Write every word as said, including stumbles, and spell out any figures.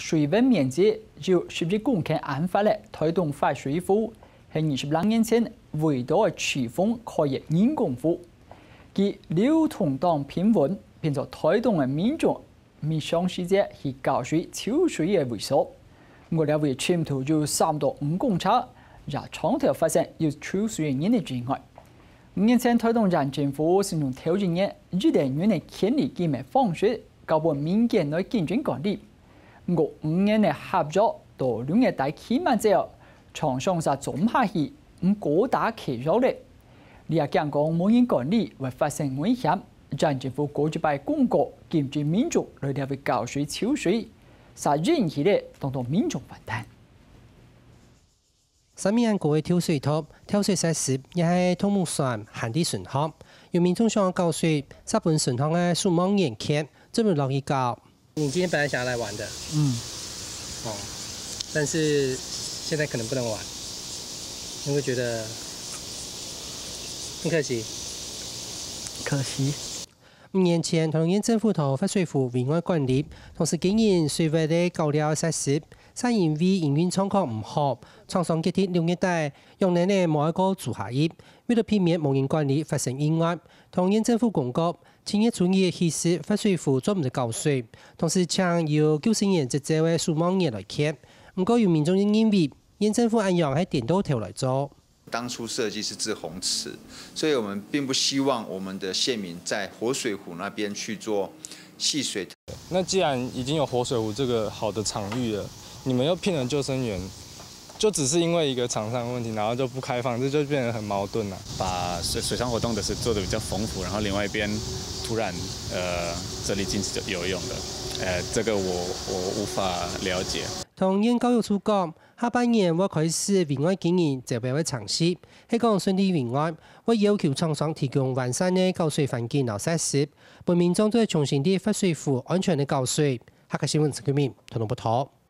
水文面積有十一公頃恁闊个台東發水湖，係二十零年前為著个取風開个人工湖。佢流通當平穩，變做台東个民眾 平常時節去搞水、泅水个位所。毋過這位深度有三到五公尺，也常透發生有泅水个人个意外。五年前，台東縣政府先從頭一年一等人个權利金个方式，交分民間來經營管理。毋過五年个合約到六月底期滿之後，廠商煞做毋下去，毋過打契約咧。這也驚講無人管理會發生危險。 縣政府過一擺公告禁止民眾來這位搞水泅水，煞引起了當多民眾反彈。三米恁高个跳水塔，跳水設施也係動物船、旱地船項。有民眾想搞水，煞分船項个守望員譴，做毋落去搞。你今天本來想要來玩的，嗯，哦，但是現在可能不能玩，你會覺得很可惜。可惜。 五年前，桃園縣政府在發水湖圍外管理，同時經營水域个搞料設施，煞因為營運狀況毋好，廠商決定六月底，用能个無愛過租下去，為了避免無人管理發生意外，桃園縣政府公告，七月初二起始發水湖做毋得搞水，同時請有九十年執照个守望員來譴。毋過有民眾認為，縣政府恁樣係顛倒頭來做。 當初設計是滯洪池，所以我們並不希望我們的縣民在活水湖那邊去做戲水。那既然已經有活水湖這個好的場域了，你們又聘了救生員，就只是因為一個廠商的問題，然後就不開放，這就變得很矛盾了。把水水上活動的是做的比較豐富，然後另外一邊突然呃設立禁止游泳的，呃，這個我我無法了解。桃園教育處講， 下半年會開始圍外經營招標个程序，係講順利圍外，會要求廠商提供完善个搞水環境摎設施，分民眾做得重新在發水湖安全个搞水。客家新聞陳桂明，台東報導。